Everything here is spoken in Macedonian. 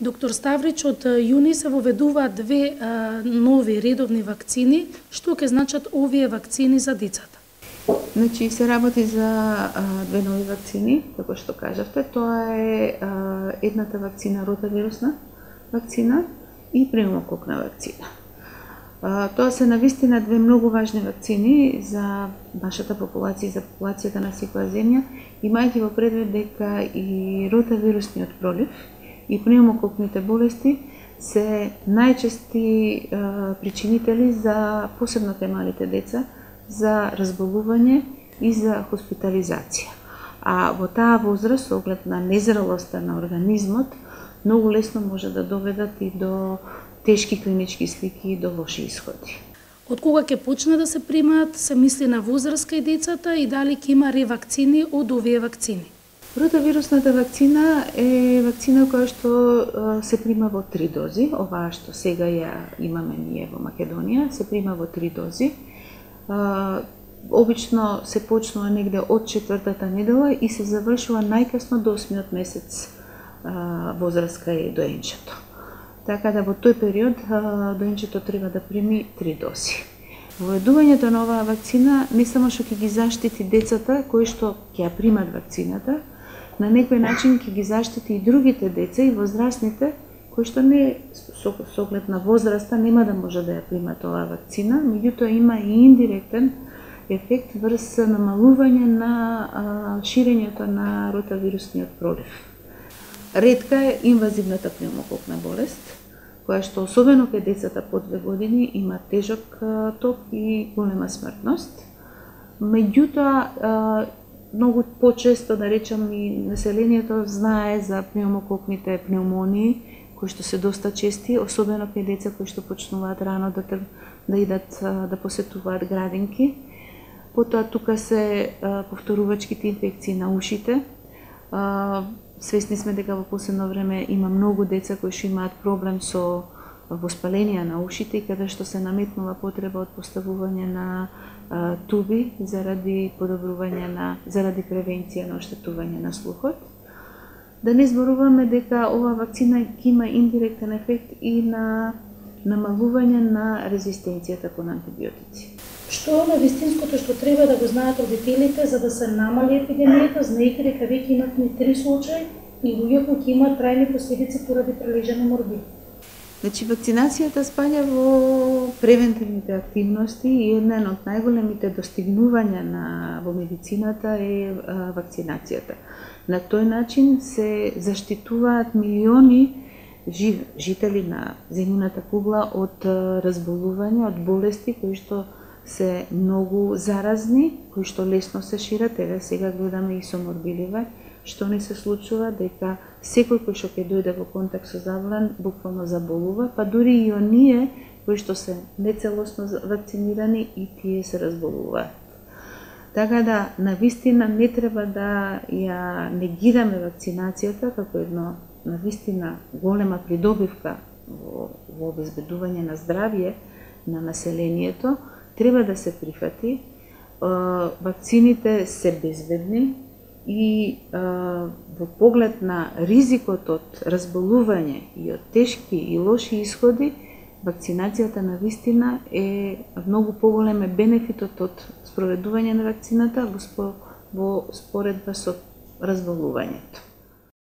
Доктор Ставрич, од јуни се воведуваат две нови редовни вакцини. Што ќе значат овие вакцини за децата? Значи, се работи за две нови вакцини, како што кажавте. Тоа е едната вакцина, ротавирусна вакцина и пневмококна вакцина. Тоа се навистина две многу важни вакцини за нашата популација и за популацијата на секоја земја, имајќи во предвид дека и ротавирусниот пролив и пневмококните болести се најчести причинители за посебно малите деца за разболување и за хоспитализација. А во таа возраст, со оглед на незрелоста на организмот, многу лесно може да доведат и до тешки клинички слики и до лоши исходи. Од кога ќе почне да се примаат, се мисли на возраст кај децата и дали ќе има ревакцини од овие вакцини? Ротавирусната вакцина е вакцина која што се прима во 3 дози. Оваа што сега ја имаме ние во Македонија, се прима во 3 дози. Обично се почнува негде од 4-та недела и се завршува најкасно до 8-миот месец возраст кај доенчето. Така да во тој период доенчето треба да прими 3 дози. Воведувањето на оваа вакцина не само што ќе ги заштити децата кои што ќе ја примат вакцината, на некој начин ќе ги заштити и другите деца и возрастните кои што не со оглед на возраста нема да може да ја примат оваа вакцина, меѓутоа има и индиректен ефект врз намалување на ширењето на ротавирусниот пролив. Ретка е инвазивната пневмококна болест, која што особено кај децата по 2 години има тежок ток и голема смртност. Меѓутоа, многу почесто, да речам, и населението знае за пневмококните пневмонии, кои што се доста чести, особено кај деца кои што почнуваат рано да идат да посетуваат градинки. Потоа тука се повторувачките инфекции на ушите. Свесни сме дека во последно време има многу деца кои што имаат проблем со воспаленија на ушите и каде што се наметнува потреба од поставување на туби заради превенција на оштетување на слухот. Да не зборуваме дека оваа вакцина ќе има индиректен ефект и на намалување на резистенцијата кон антибиотици. Што е навистинското што треба да го знаат родителите за да се намали епидемијата, знаејќи дека веќе имавме 3 случаи и луѓе кои ќе имаат трајни последици поради прележани морбини? Значи, вакцинацијата спаѓа во превентивните активности и еден од најголемите достигнувања во медицината е вакцинацијата. На тој начин се заштитуваат милиони жители на земјината кугла од разболувања, од болести кои што се многу заразни, кои што лесно се шират. Сега гледаме и со морбиливе, што не се случува, дека секој кој што ќе дојде во контакт со заболен буквално заболува, па дури и оние кои што се нецелосно вакцинирани и тие се разболуваат. Така да, навистина не треба да ја негираме вакцинацијата како едно навистина голема придобивка во обезбедување на здравје на населението, треба да се прифати. Вакцините се безбедни и во поглед на ризикот од разболување и од тешки и лоши исходи, вакцинацијата навистина е многу поголем бенефитот од спроведување на вакцината во споредба со разболувањето.